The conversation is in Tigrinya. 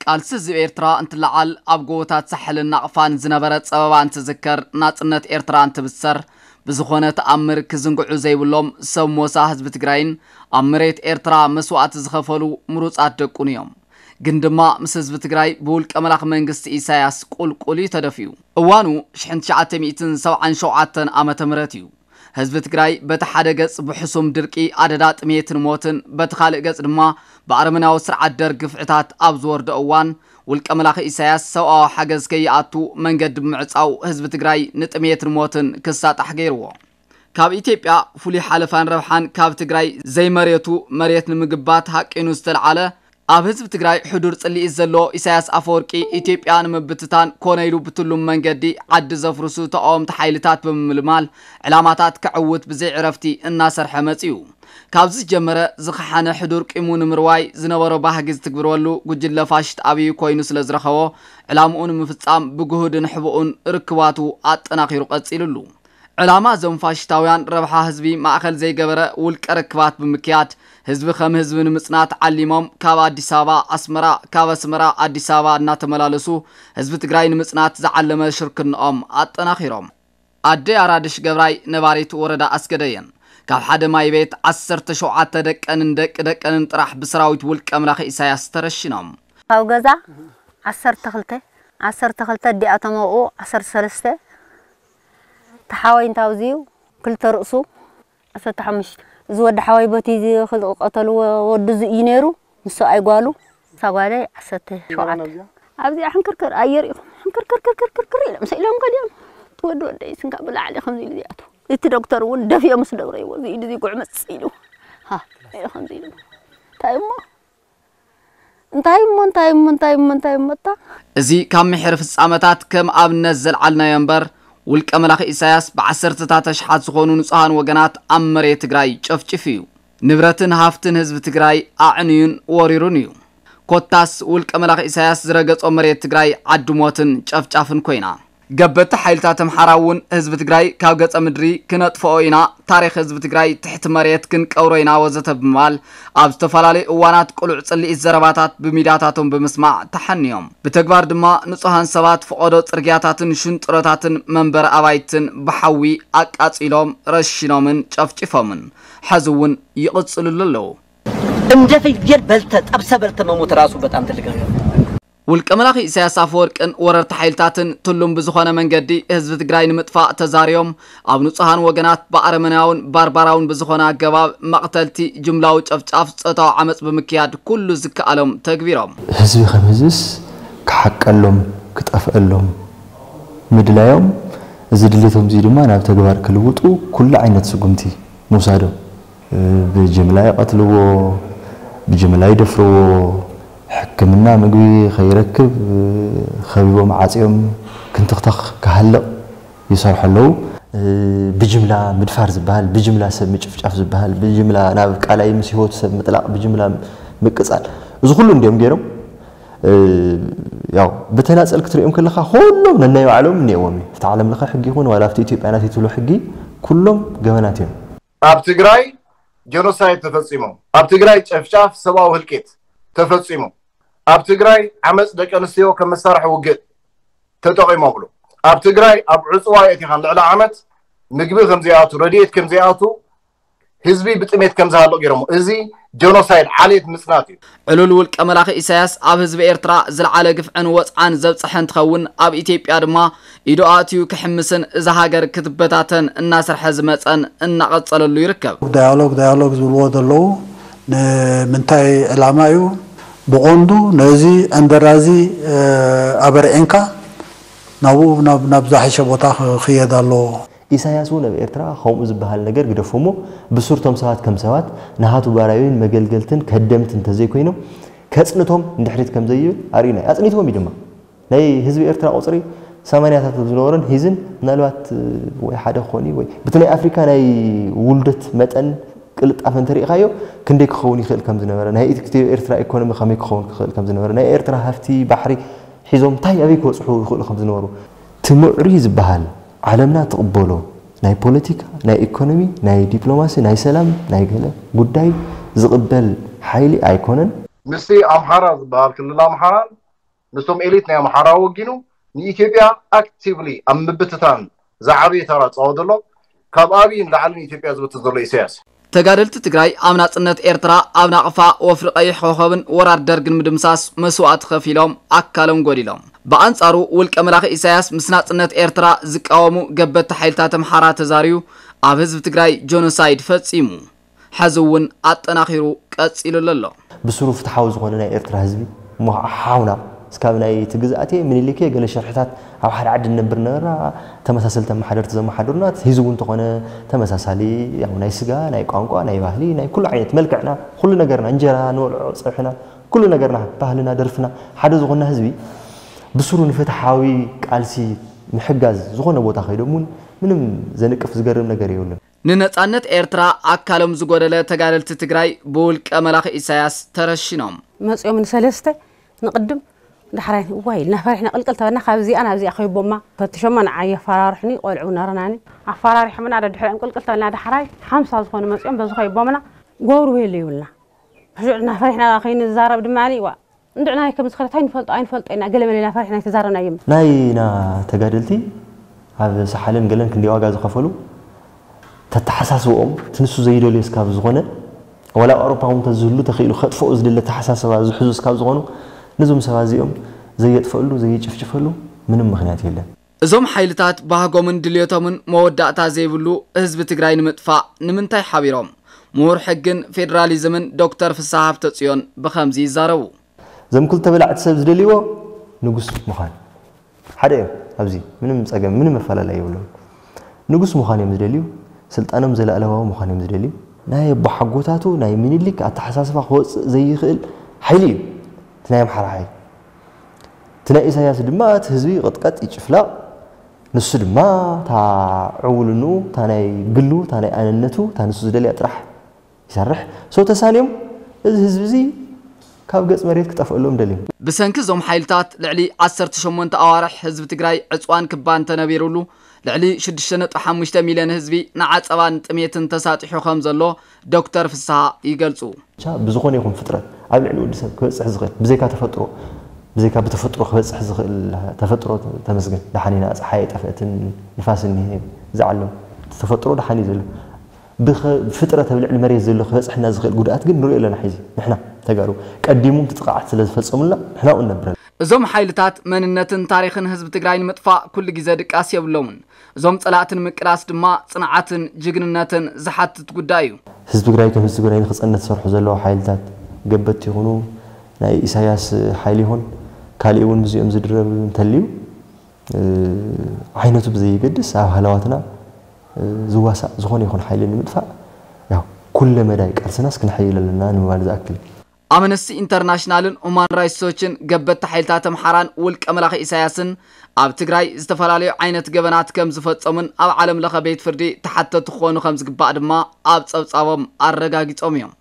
ቃልሲ ህዝቢ ኤርትራ እንትለዓል፣ ኣብ ጎቦታት ሳሕልን ናቕፋን ዝነበረ ጸበባ እንትዝከር፣ ናጽነት ኤርትራ እንትብሰር፣ ብዝኾነ ተኣምር ክዝንግዑ ዘይብሎም ሰብ ሞሳ ህዝቢ ትግራይን ኣብ መሬት ኤርትራ መስዋእቲ ዝኸፈሉ ምሩጻት ደቁን እዮም። ግን ድማ ምስ ህዝቢ ትግራይ ብውልቀ መላኺ መንግስቲ ኢሳያስ ቁልቁል እዩ ተደፊኡ። እዋኑ ሽሕን ትሽዓተ ሚእትን ሰብዓን ሸውዓተን ዓመተ ምህረት እዩ። ህዝቢ ትግራይ በቲ ሓደ ገጽ ብሕሱም ድርቂ፣ ኣደዳ ጥሜትን ሞትን፣ በቲ ካልእ ገጽ ድማ ብኣረመናዊ ስርዓት ደርግ ግፍዕታት ኣብ ዝወርዶ እዋን፣ ውልቀ መላኺ ኢሳያስ ሰብኣዊ ሓገዝ ከይኣቱ መንገዲ ብምዕጻው ህዝቢ ትግራይ ንጥሜትን ሞትን ክሳጣሕ ገይርዎ። ካብ ኢትዮጵያ ፍሉይ ሓለፋን ረብሓን ካብ ትግራይ ዘይመሬቱ መሬት ንምግባት ሃቂኑ ዝተልዓለ ኣብ ህዝቢ ትግራይ ሕዱር ጽልኢት ዘሎ ኢሳያስ ኣፈወርቂ ኢትዮጵያ ንምብትታን ኮነ ኢሉ ብትሉም መንገዲ ዓዲ ዘፍርሱ ተቃወምቲ ሓይልታት ብምምልማል ዕላማታት ከዕውት ብዘይ ዕረፍቲ እናሰርሐ መጺኡ። ካብዚ ዝጀመረ ዝኸሓነ ሕዱር ቂሙ ንምርዋይ ዝነበሮ ባህጊ ዝትግብረሉ ጉጅለ ፋሽስት ኣብዩ ኮይኑ ስለ ዝረኸቦ ዕላምኡ ንምፍጻም ብግሁድን ሕቡኡን ርክባቱ ኣጠናኺሩ ቀጺሉሉ። ዕላማ እዞም ፋሽስታውያን ረብሓ ህዝቢ ማእኸል ዘይገበረ ውልቀ ርክባት ብምክያድ ህዝቢ ከም ህዝቢ ንምጽናት ዓሊሞም ካብ ኣዲስ ኣበባ ኣስመራ፣ ካብ ኣስመራ ኣዲስ ኣበባ እናተመላለሱ ህዝቢ ትግራይ ንምጽናት ዝዓለመ ሽርክንኦም ኣጠናኺሮም። ኣደይ ኣራድሽ ገብራይ ነባሪት ወረዳ ኣስገደየን ካብ ሓደ ማይ ቤት ዓሰርተ ሸውዓተ ደቀንን ደቂ ደቀንን ጥራሕ ብሰራዊት ውልቀ መላኺ ኢሳያስ ተረሽኖም። ካብ ገዛ ዓሰርተ ክልተ ዓሰርተ ክልተ ኣዲኣቶም ኣብኡ ዓሰርተ ሰለስተ ተሓወይ እንታውዝዩ ክልተ ርእሱ ዓሰርተ ሓሙሽተ እዚ ወዲ ሓወይ በቲ እዚ ክልቀተሉ ወዱ እዚ እዩ ነይሩ ምስ ሰብኣይ ጓሉ እሳ ጓለይ ዓሰርተ ሸውዓተ ኣብዚኣ ሕንክርክር ኣየር ኢኹም ሕንክርክርክርክርክር ኢሎም ስኢሎም ከዲኦም እቲ ወዲ ወደይ ስንካ ብላዕሊ ከምዚ ኢሉ ዝኣቱ እቲ ዶክተር እውን ደፊኦ ምስ ደብረይዎ እዚ ኢዱ እዚ ጉዕምፅ ኢሉ ሃ ኢሉ ከምዚ ኢሉ እንታይ እሞ እንታይ እሞ እንታይ እሞ እንታይ እሞ እንታይ እሞ እታ እዚ ካብ ምሕር ፍጻመታት ከም ኣብነት ዘልዓልናዮ እምበር ውልቀ መላኺ ኢሳያስ ብዓሰርተታት ኣሽሓት ዝኾኑ ንጹሃን ወገናት ኣብ መሬት ትግራይ ጨፍጭፉ እዩ። ንብረትን ሃፍትን ህዝቢ ትግራይ ኣዕንዩን ወሪሩን እዩ። ኮታስ ውልቀ መላኺ ኢሳያስ ዝረገጾ መሬት ትግራይ ዓዲ ሞትን ጨፍጫፍን ኮይና። ገበቲ ሓይልታት ኣምሓራ እውን ህዝቢ ትግራይ ካብ ገጸ ምድሪ ክነጥፍኦ ኢና፣ ታሪኽ ህዝቢ ትግራይ ትሕቲ መሬት ክንቀብሮ ኢና ወዘተ ብምባል ኣብ ዝተፈላለዩ እዋናት ቅሉዕ ጽልኢት ዘረባታት ብሚድያታቶም ብምስማዕ ተሓንዮም። ብተግባር ድማ ንጹሃን ሰባት ፈቐዶ ጽርግያታትን ሽንጥሮታትን መንበሪ ኣባይትን ብሓዊ ኣቃጺሎም ረሺኖምን ጨፍጭፎምን። ሐዚ እውን ይቕጽልሉ ኣለዉ። እንደ ፍየል በልተ ጠብሰ በልተ መሞት ራሱ በጣም ትልቅ ነገር ነው። ውልቀ መላኺ ኢሳያስ ኣፈወርቅን ወረርቲ ሓይልታትን ትሉም ብዝኾነ መንገዲ ህዝቢ ትግራይ ንምጥፋእ ተዛርዮም ኣብ ንጹሃን ወገናት ብኣረመናውን ባርባራውን ብዝኾነ ኣገባብ መቕተልቲ፣ ጅምላዊ ጨፍጫፍ፣ ጾታዊ ዓመጽ ብምክያድ ኩሉ ዝከኣሎም ተግቢሮም። ህዝቢ ከም ህዝብስ ክሓቀሎም ክጠፍአሎም ምድላዮም እዚ ድሌቶም እዚ ድማ ናብ ተግባር ክልውጡ ኩሉ ዓይነት ስጉምቲ ምውሳዶም። ብጅምላ ይቐትልዎ፣ ብጅምላ ይደፍርዎ፣ ሕክምና ምግቢ ከይረክብ ከቢቦም ዓፅዮም ክንትኽተኽ ክሃልቕ ይሰርሑ ኣለዉ። ብጅምላ ምድፋር ዝበሃል፣ ብጅምላ ሰብ ምጭፍጫፍ ዝበሃል፣ ብጅምላ ናብ ቃላይ ምስ ህይወቱ ሰብ ምጥላቕ፣ ብጅምላ ምቅፃል፣ እዚ ኩሉ እንዲዮም ገይሮም። ያው ብተናፀል ክትሪኦም ከለኻ ኩሎም ነናይ ባዕሎም እኒኦዎም እዩ። ኣብቲ ዓለም ለኸ ሕጊ ይኹን ዋላ ኣብቲ ኢትዮጵያ ናተይ ትብሎ ሕጊ ኩሎም ገበናት እዮም። ኣብ ትግራይ ጀኖሳይድ ተፈፂሞም፣ ኣብ ትግራይ ጨፍጫፍ ሰብኣዊ ህልቂት ተፈፂሙ፣ ኣብ ትግራይ ዓመፅ ደቂ ኣንስትዮ ከም መሳርሒ ውግእ ተጠቒሞምሉ፣ ኣብ ትግራይ ኣብ ዕፅዋ የእቲኻን ልዕሊ ዓመት ምግቢ ከምዘይኣቱ ረድኤት ከምዘይኣቱ ህዝቢ ብጥሜት ከምዝሃልቕ ገይሮሞ። እዚ ጀኖሳይድ ዓሌት ምፅናት እዩ። ዕሉል ውልቀ መላኺ ኢሳያስ ኣብ ህዝቢ ኤርትራ ዝለዓለ ግፍዕን ወፅዓን ዘብፀሐ እንትኸውን ኣብ ኢትዮጵያ ድማ ኢዱ ኣእትዩ ክሕምስን እዛ ሃገር ክትበታተን እናሰርሐ ዝመፀን እናቐፀለሉ ይርከብ። ዳያሎግ ዳያሎግ ዝብልዎ ዘለዉ ንምንታይ ዕላማ እዩ? ብቐንዱ ነዚ ዕንደራ እዚ ኣበርዒንካ ናብኡ ናብ ዝሓሸ ቦታ ክኽየድ ኣለዎ። ኢሳያስ እውን ኣብ ኤርትራ ከምኡ ዝበሃል ነገር ግደፎ እሞ ብሱር እቶም ሰባት ከም ሰባት ናሃቱ ባራዩን መገልገልትን ከደምትን እንተዘይኮይኖም ከጽንቶም ንድሕሪት ከምዘይብል ኣርእዩና እዩ። ኣጽኒትዎም እዩ ድማ። ናይ ህዝቢ ኤርትራ ቁጽሪ ሰማንያታት ኣብ ዝነበሮን ሒዝን ምናልባት ወይ ሓደ ክኾን እዩ ወይ በቲ ናይ ኣፍሪካ ናይ ውልደት መጠን ቅልጣፈ እንተሪኢኻዮ ክንደይ ክኸውን ይኽእል ከም ዝነበረ፣ ናይ ኢትዮ ኤርትራ ኢኮኖሚ ከመይ ክኸውን ክኽእል ከም ዝነበረ፣ ናይ ኤርትራ ሃፍቲ ባሕሪ ሒዞም እንታይ ኣበይ ክበጽሑ ይኽእሉ ከም ዝነበሩ፣ እቲ ምዕሩይ ዝበሃል ዓለምና ትቕበሎ ናይ ፖለቲካ፣ ናይ ኢኮኖሚ፣ ናይ ዲፕሎማሲ፣ ናይ ሰላም፣ ናይ ገለ ጉዳይ ዝቕበል ሓይሊ ኣይኮነን። ምስቲ ኣምሓራ ዝበሃል ክልል ኣምሓራን ምስቶም ኤሊት ናይ ኣምሓራ ወጊኑ ንኢትዮጵያ ኣክቲቭሊ ኣብ ምብትታን ዝዓበየ ተራ ዝፃወት ዘሎ ካብ ኣብይ ንላዕሊ ንኢትዮጵያ ዝብትን ዘሎ ኢሳያስ። ተጋደልቲ ትግራይ ኣብ ናጽነት ኤርትራ ኣብ ናቕፋ ወፍሪ ቀይሕ ኮኸብን ወራር ደርግን ምድምሳስ መስዋእቲ ከፊሎም ኣካሎም ጎዲሎም። ብኣንጻሩ ውልቀ መላኺ ኢሳያስ ምስ ናጽነት ኤርትራ ዝቃወሙ ገበቲ ሓይልታት ኣምሓራ ተዛርዩ ኣብ ህዝቢ ትግራይ ጆኖሳይድ ፈጺሙ። ሕዚ እውን ኣጠናኺሩ ቀጺሉሉ ኣሎ። ብስሩ ፍትሓዊ ዝኾነ ናይ ኤርትራ ህዝቢ እሞ ሓውና እስካብ ናይ እቲ ግዝኣት ምኒልክ ገለ ሸርሕታት ኣብ ሓደ ዓዲ ንነብር ነበርና። ተመሳሰልቲ ኣመሓደርቲ ዘመሓደሩና፣ እቲ ህዝቢ እውን እንተኾነ ተመሳሳሊ፣ ያው ናይ ስጋ፣ ናይ ቋንቋ፣ ናይ ባህሊ፣ ናይ ኩሉ ዓይነት መልክዕና፣ ኩሉ ነገርና፣ እንጀራ ንበልዖ፣ ፀብሕና፣ ኩሉ ነገርና፣ ባህልና፣ ደርፍና ሓደ ዝኾንና ህዝቢ ብስሩ ንፍትሓዊ ቃልሲ ምሕጋዝ ዝኾነ ቦታ ከይዶም እውን ምንም ዘንቅፍ ዝገርም ነገር የብሉን። ንነጻነት ኤርትራ ኣካሎም ዝጎደለ ተጋደልቲ ትግራይ ብውልቀ መላኺ ኢሳያስ ተረሺኖም። መጺኦም ንሰለስተ ንቕድም ዳሕራይ እዋይ ኢልና ፈሪሕና ቅልቅል ተበልና ካብዚኣ ናብዚኣ ከይቦማ ፈትሾማ ንዓ የፈራርሕኒ ቆልዑ ነረናኒ ኣፈራሪሖምና ደድሕሪኦም ቅልቅል ተበልና ዳሕራይ ሓምሳ ዝኾኑ መጺኦም በዚ ከይቦምና ጎብሩ የለ ይብልና ሽዑ እና ፈሪሕና ከይንዛረብ ድማ ዋ እንድዕናይ ከም ዝኸደ ታይ ንፈልጦ ኣይንፈልጦ ኢና ገለ መለ ኢና ፈሪሕና ኣይተዛረብናዮም። ናይና ተጋደልቲ ኣብ ሰሓልን ገለን ክንደይ ዋጋ ዝኸፈሉ ተተሓሳስብኦም ትንሱ ዘይደልዮ ስካብ ዝኾነ ዋላ ኣውሮፓ እውን ተዝህሉ ተኽኢሉ ከጥፍኦ ዝደለ ተሓሳስባ ዝሕዙ ስካብ ዝኾኑ ነዞም ሰባት እዚኦም ዘየጥፈሉ ዘየጭፍጭፈሉ ምንም ምኽንያት የለን። እዞም ሓይልታት ባህጎምን ድልዮቶምን መወዳእታ ዘይብሉ ህዝቢ ትግራይ ንምጥፋእ ንምንታይ ሓቢሮም? ምሁር ሕግን ፌዴራሊዝምን ዶክተር ፍስሃ ሃብተጽዮን ብኸምዚ ይዛረቡ። እዞም ክልተ በላዕቲ ሰብ ዝደልይዎ ንጉስ ምዃን ሓደ እዮም። ኣብዚ ምንም ጸገም ምንም መፈላለይ የብሎም። ንጉስ ምዃን እዮም ዝደልዩ። ስልጣኖም ዘለኣለማዊ ምዃን እዮም ዝደልዩ። ናይ ኣቦሓጎታቱ ናይ ምኒልክ ኣተሓሳስባ ክወፅእ ዘይኽእል ሓይሊ እዩ እቲ ናይ ኣምሓራ ሓይሊ። እቲ ናይ ኢሳያስ ድማ እቲ ህዝቢ ይቕጥቀጥ ይጭፍለቕ። ንሱ ድማ እታ ዕውልንኡ እታ ናይ ግሉ እታ ናይ ኣነነቱ እታ ንሱ ዝደልያ ጥራሕ ይሰርሕ። So ተሳንዮም እዚ ህዝቢ እዚ ካብ ገፅ መሬት ክጠፍአሎም ደልዮም። ብሰንኪ እዞም ሓይልታት ልዕሊ ዓሰርተ ሸሞንተ ኣዋርሕ ህዝቢ ትግራይ ዕፅዋን ክባን ተነቢሩሉ ልዕሊ ሽዱሽተ ነጥቢ ሓሙሽተ ሚልዮን ህዝቢ ንዓፀባን ጥሜትን ተሳጢሑ ከም ዘሎ ዶክተር ፍስሃ ይገልፁ። ብቻ ብዝኾነ ይኹን ፍጥረት ኣብ ልዕሊ ወዲ ሰብ ክበፅሕ ዝኽእል ብዘይካ ተፈጥሮ ብዘይካ ብተፈጥሮ ክበፅሕ ዝኽእል ተፈጥሮ ተመስገን ደሓን ኢና ፀሓይ ኣይጠፍአትን ንፋስ እኒሀ ዝዓለም ተፈጥሮ ደሓን እዩ ዘሎ ብፍጥረት ኣብ ልዕሊ መሬት ዘሎ ክበፅሐና ዝኽእል ጉድኣት ግን ንሪኦ ኣለና ሕዚ ንሕና ተጋሩ ቀዲሙ እቲ ጥቕዓት ስለ ዝፈፀሙልና ንሕና ኣብኡ ንነብር ኣለና። እዞም ሓይልታት መንነትን ታሪኽን ህዝቢ ትግራይ ንምጥፋእ ኩሉ ግዘ ድቃስ የብሎምን። እዞም ፀላእቲ ንምቅላስ ድማ ፅንዓትን ጅግንነትን ዝሓትት ጉዳይ እዩ። ህዝቢ ትግራይ ከም ህዝቢ ትግራይ ንክፀንት ዝሰርሑ ዘለዉ ሓይልታት ገበትቲ ይኹኑ ናይ ኢሳያስ ሓይሊ ይኹን ካሊእ እውን ምስዚኦም ዝድረብ እንተልዩ ዓይነቱ ብዘየገድስ ኣብ ሃለዋትና ዝዋሳእ ዝኾነ ይኹን ሓይሊ ንምጥፋእ ያው ኩለ መዳይ ቃልስናስ ክነሐይል ኣለና ንምባል ዝኣክል እዩ። ኣምነስቲ ኢንተርናሽናልን ሁማን ራይትስ ዎችን ገበቲ ሓይልታት ኣምሓራን ውልቀ መላኺ ኢሳያስን ኣብ ትግራይ ዝተፈላለዩ ዓይነት ገበናት ከም ዝፈጸሙን ኣብ ዓለም ለኸ ቤት ፍርዲ ተሓተቲ ክኾኑ ከም ዝግባእ ድማ ኣብ ጸብጻቦም ኣረጋጊጾም እዮም።